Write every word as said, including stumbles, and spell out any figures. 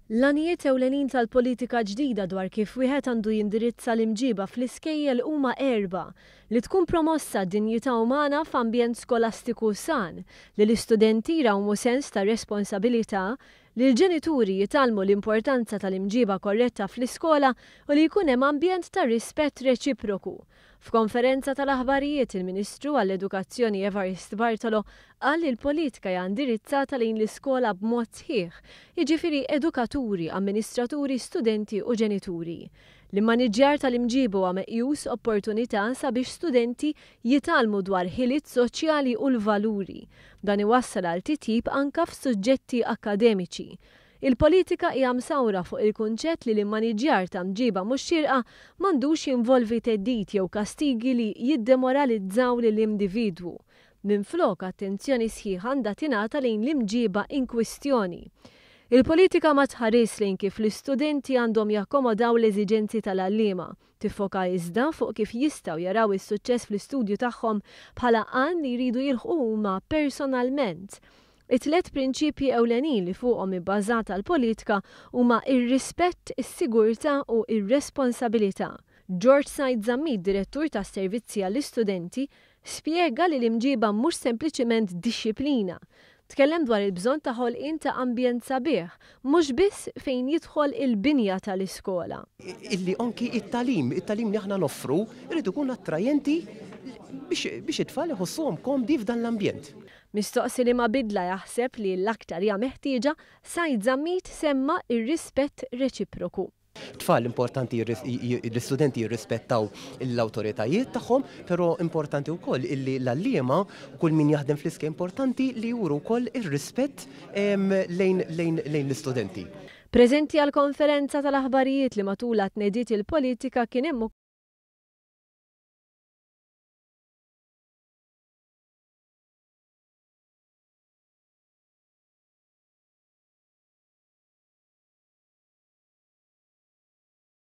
L-għanijiet ewlenin tal-politika ġdida dwar kif wieħed għandu jindirizza l-imġiba fl-iskejjel huma erba': li tkun promossa dinjità umana f'ambjent skolastiku san, li l-istudenti jrawmu sens ta' responsabilità, li l-ġenituri jitgħallmu l-importanza tal-imġiba korretta fl-iskola u li jkun hemm ambjent ta' rispett reċiproku. F'konferenza tal-aħbarijiet, il-Ministru għall-Edukazzjoni Evarist Bartolo qal li l-politika hija indirizzata lejn l-iskola b'mod sħiħ, jiġifieri edukaturi, amministraturi, studenti u ġenituri. L-immaniġġjar tal-imġiba huwa meqjus opportunità sabiex studenti jitgħallmu dwar ħiliet soċjali u l-valuri. Dan iwassal għal titjib anka f'suġġetti akkademiċi. Il-politika hija msawra fuq il-kunċett li l-immaniġġjar ta' mġiba mhux xierqa m'għandux jinvolvi theddid jew kastigi li jiddemoralizzaw lill-individwu. Minflok, attenzjoni sħiħa għandha tingħata lejn l-imġiba in kwistjoni. Il-politika ma tħares lejn kif l-istudenti għandhom jakkomodaw l-eżiġenzi tal-għalliema, tiffoka iżda fuq kif jistgħu jaraw is-suċċess fl-istudju tagħhom bħala għan li jridu jilħqu huma personalment. It-tliet prinċipji ewlenin li fuqhom ibbażata l-politika huma ir-rispett, is-sigurtà u ir-responsabilità. George Said Zammit, direttur tas-servizzi għall-istudenti, spjega li l-imġiba mhux sempliċiment dixxiplina. Tkellem dwar il-bżonn ta' ħolqien ta' ambjent sabiħ, mhux biss fejn jidħol il-binja tal-iskola. Illi anki it-tagħlim, it-tagħlim li aħna noffru, irid ikun attrajenti biex it-tfal iħossuhom komdi f'dan l-ambjent. Mistoqsi liema bidla jaħseb li l-aktar hija meħtieġa, Said Zammit semma ir-rispett reċiproku. Tfal importanti l-istudenti jirrispettaw l-awtoritajiet tagħhom, però importanti wkoll illi l-għalliema, kull min jaħdem fl-iskejjel, importanti li juru wkoll ir-rispett lejn l-istudenti. Preżenti għal konferenza tal-aħbarijiet li matulha tnediet il-politika kien hemm